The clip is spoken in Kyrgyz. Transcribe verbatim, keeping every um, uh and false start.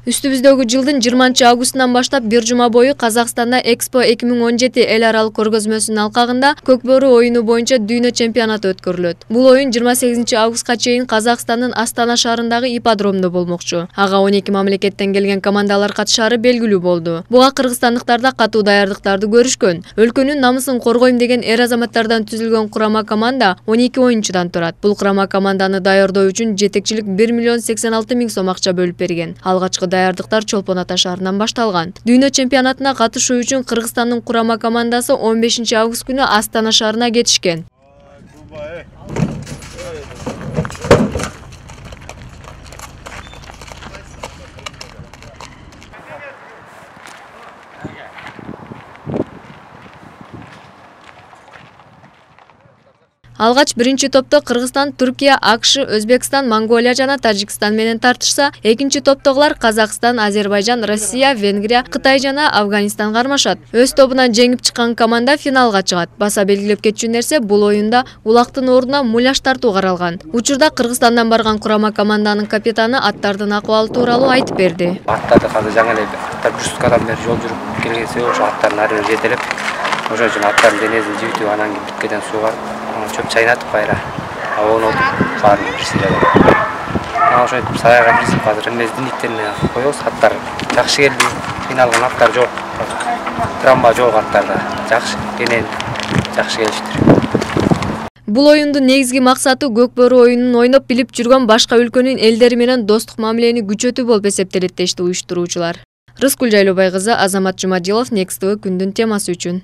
Үстүбүздөгү жылдын жыйырманчы августунан баштап бир жума бою Казакстанда Экспо эки миң он жети эл аралык көргөзмөсүнүн алкагында Көкбөрү оюну боюнча дүйнө чемпионаты өткөрүлөт. Бул оюн жыйырма сегизинчи августка чейин Казакстандын Астана шаарындагы ипподромдо болмокчу. Ага он эки мамлекеттен келген командалар катышаары белгилүү болду. Буга кыргызстандыктар да катуу даярдыктарды көрүшкөн. Өлкөнүн намысын коргойм деген эр азаматтардан түзүлгөн курама команда он эки оюнчудан турат. Бул курама команданы даярдоо үчүн жетекчилик бир миллион сексен алты миң сом акча бөлүп берген. Алгачкы даярдыктар Чолпон Ата шаарынан башталган. Дүйнө чемпионатына катышуу үчүн Кыргызстандын курама командасы он бешинчи август күнү Астана шаарына кетишкен. Алгач биринчи топто Кыргызстан, Түркия, АКШ, Өзбекстан, Монголия жана Тажикстан менен тартышса, экинчи топтогулар Казакстан, Азербайжан, Россия, Венгрия, Кытай жана Афганистан кармашат. Өз тобунан жеңип чыккан команда финалга чыгат. Баса белгилеп кетчү нерсе, бул оюнда улактын ордуна муляж тартуу каралган. Учурда Кыргызстандан барган курама команданын капитаны аттардын акыбалы тууралуу айтып берди. Аттарды азыр жаңы эле аттар жүз кадам бери жол жүрүп келген себеби ошо аттардын ары бери жетелеп, ошон үчүн аттардын денесин жибитип, анан кийин бүткөдөн сууга чөп чайнатып кайра абоонуп баарын бир сыйрадып. Ошентип саяга киргизип азыр эмес диниктерине коебуз. Аттар жакшы келди. Финалган аттар жок. Травма жок аттарда. Жакшы денен жакшы келиштир. Бул оюндун негизги максаты Көкбөрү оюнун ойноп билип жүргөн башка өлкөнүн элдери менен достук мамилени күчөтүү болуп эсептелет дешти уюштуруучулар. Рыскүл Жайлообай кызы, Азамат Жумадилов, Next тэ вэ күндүн темасы үчүн.